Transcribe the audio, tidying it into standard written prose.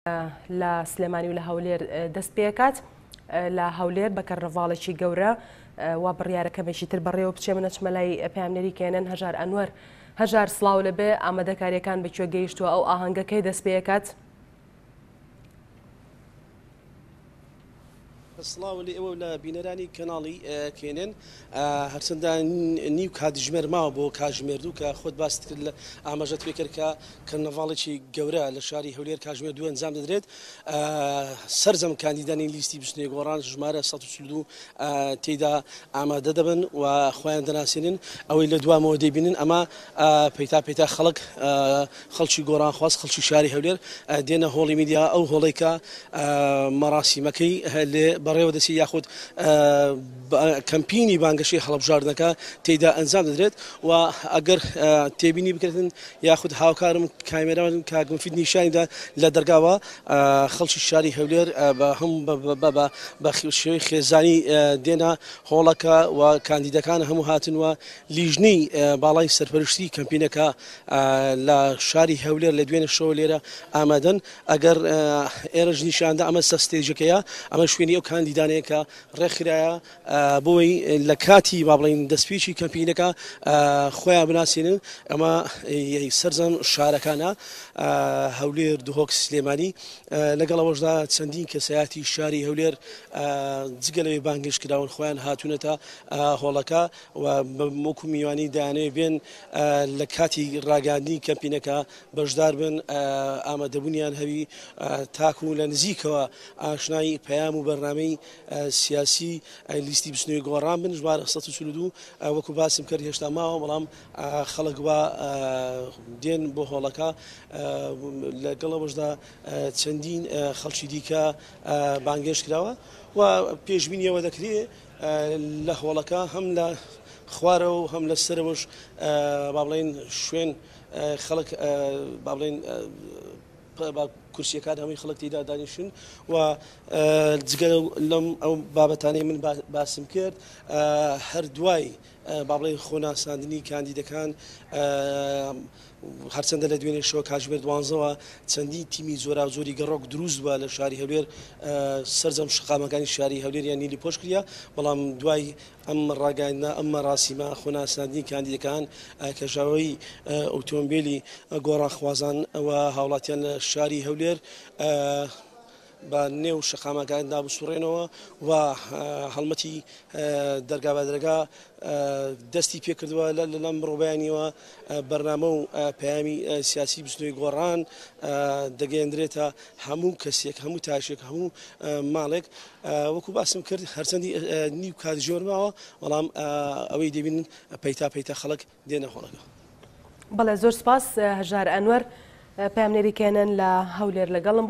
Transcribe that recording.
لە سلێمانی و لە هەولێر دەست پێکات لە هەولێر بە کەرنەڤاڵێکی گەورە وا بڕیارە کەمێکی تر بەڕێوە بچێ من ئەچمە لای پەیامنێری کێنن هەژار ئەنوەر هەژار سڵاو لەبێ ئامادەکاریەکان بە کوێ گەیشتووە ئەو ئاهەنگە کەی دەست پێکات؟ سڵاو لە ئێوە و لە بینەرانی کەناڵی کێنێن. هەرچەندە نیو کاتژمێر ماوە بۆ کاتژمێر دوو کە خۆت باست کرد لە ئاماژەت پێ کرد کە کەرنەڤاڵێکی گەورە لە شاری هەولێر کاتژمێر دوو ئەنجام دەدرێت. سەرجەم کاندیدانی لیستی بزوتنەوەی گۆڕان ژمارە 142 تێیدا ئامادە دەبن و خۆیان دەناسێنن. ئەوەی لە دوامەوە دەیبینن ئەمە پەیتا پەیتا خەڵک خەڵکی گۆڕانخواز خەڵکی شاری هەولێر دێنە هۆڵی میدیا ئەو هۆڵەی کە مەراسیمەکەی لێ بەڕێوە دەچێت یاخود کەمپینی بانگەشەی هەڵبژاردنەکە تێیدا ئەنجام دەدرێت و ئەگەر تێبینی بکرێتن یاخود هاوکارم کامێران کاک مفید نیشانیدا لە دەرگاوە خەڵکی شاری هەولێر بە هەم بە شێوەی خێزانی دێنە هۆڵەکە و کاندیدەکان هەموو هاتن و لیژنەی باڵای سەرپەرشتی کەمپینەکە لە شاری هەولێر لە دوێنێ شەوە لێرە ئامادەن، ئەگەر ئێرەش نیشاندا ئەمە سەر ستەیجەکەیە، ئەمە شوێنی ئەو کاندیدانەیە کە ڕێکخرایە بۆی لە کاتی با بڵێین دەستپێکی کەمپینەکە خۆیان بناسێنن، ئەمە سەرجەم شارەکانە هەولێر، دهۆک، سلێمانی، لەگەڵ ئەوەشدا چەندین کەسایەتی شاری هەولێر جگە لەوەی بانگهێشت کراون خۆیان هاتوونەتە هۆڵەکە. و وەکو میوانی دەیانەوێت بێن لە کاتی ڕاگەیاندنی کەمپینەکە بەشدار بن ئامادەبوونیان هەبی تاکو لە نزیکەوە ئاشنای پەیام و بەرنامەی سیاسی لیستی بزوتنەوەی گۆڕان بن ژمارە 142 وەکو باسم کرد هێشتا ماوە بەڵام خەڵک وا دێن بۆ هۆڵەکە لەگەڵ ئەوەشدا چەندین خەڵکی دیکە بانگێشت کراوە و پێشبینیەوە دەکرێت لە هۆڵەکە هەم لە خوارەوە و هەم لە سەرەوەش با بڵێین شوێن خەڵک با بڵێین کورسیەکان هەمووی خەڵک تێدا دانیشن و جگە لەم ئەو بابەتانەی من باسم کرد هەر دوای با بڵێین خۆناساندنی کاندیدەکان هەرچەندە لە دوێنێ شەوە کاتژمێر دوانزەوە چەندین تیمی جۆراوجۆری گەڕۆک دروست بووە لە شاری هەولێر سەرجەم شەقامەکانی شاری هەولێریان نیلی پۆش کردە بەڵام دوای ئەم ڕاگەیاندنە ئەم مەراسیمە خۆناساندنی کاندیدەکان کەژاوەی ئۆتۆمبیلی گۆڕانخوازان و هاوڵاتیان لە شاری هەولێر بە نێو شەقامەکاندا بسوڕێنەوە و هەڵمەتی دەرگا بە دەرگا دەستی پێکردووە لە لەم ڕۆبیانیەوە بەرنامە و پەیامی سیاسی بزوتنەوەی گۆڕان دەگەیەندرێتە هەموو کەسێک هەموو تاکێک هەموو ماڵێک وەکو باسم کرد هەرچەندی نیو کاتژمێر ماوە بەڵام ئەوەی دەبینن پەیتا پەیتا خەڵک دێنە هۆڵەکە. بەڵێ زۆر سپاس هەژار ئەنوەر پەیامنێری کێنن لە هەولێر لەگەڵم.